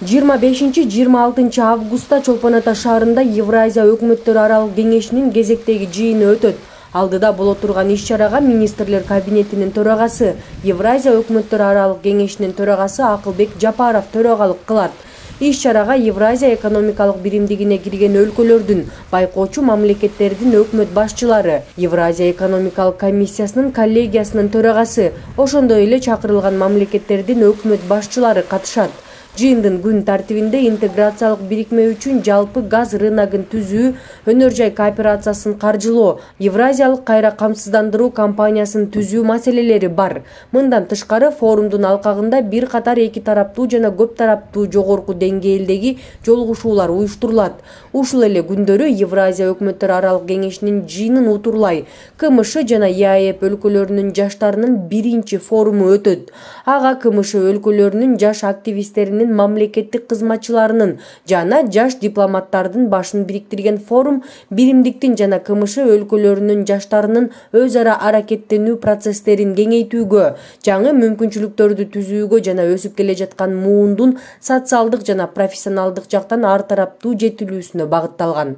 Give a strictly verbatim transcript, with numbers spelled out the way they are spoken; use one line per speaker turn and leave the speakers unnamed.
жыйырма бешинчи — жыйырма алтынчы августта Чолпон Ата шаарында Евразия өкмөттөр аралык кеңешинин кезектеги жыйыны өтөт. Алдыда боло турган иш-чарага министрлер кабинетинин төрагасы, Евразия өкмөттөр аралык кеңешинин төрагасы Акылбек Жапаров төрагалык кылат. Иш-чарага Евразия экономикалык биримдигине кирген өлкөлөрдүн, байкоочу мамлекеттердин өкмөт башчылары, Евразия экономикалык комиссиясынын коллегиясынын төрагасы, ошондой эле чакырылган мамлекеттердин өкмөт башчылары катышат. Жыйындын күн тартибинде интеграциялык бирикме үчүн жалпы газ рыногун түзүү, өнөр жай кооперациясын каржылоо, Евразиялык кайра камсыздандыруу компаниясын түзүү маселелери бар. Мындан тышкары форумдун алкагында бир катар эки тараптуу жана көп тараптуу жогорку деңгээлдеги жолугушуулар уюштурулат. Ушул эле күндөрү Евразия өкмөттөр аралык кеңешинин жыйынын утурлай КМШ жана ЕАЭП өлкөлөрүнүн жаштарынын биринчи форуму өтөт. Ага КМШ өлкөлөрүнүн жаш активисттеринин, мамлекеттик кызматчыларынын жана жаш дипломаттардын башын бириктирген форум биримдиктин жана КМШ өлкөлөрүнүн жаштарынын өз ара аракеттенүү процесстерин кеңейтүүгө, жаңы мүмкүнчүлүктөрдү түзүүгө жана өсүп келе жаткан муундун социалдык жана профессионалдык жактан ар тараптуу жетилүүсүнө багытталган.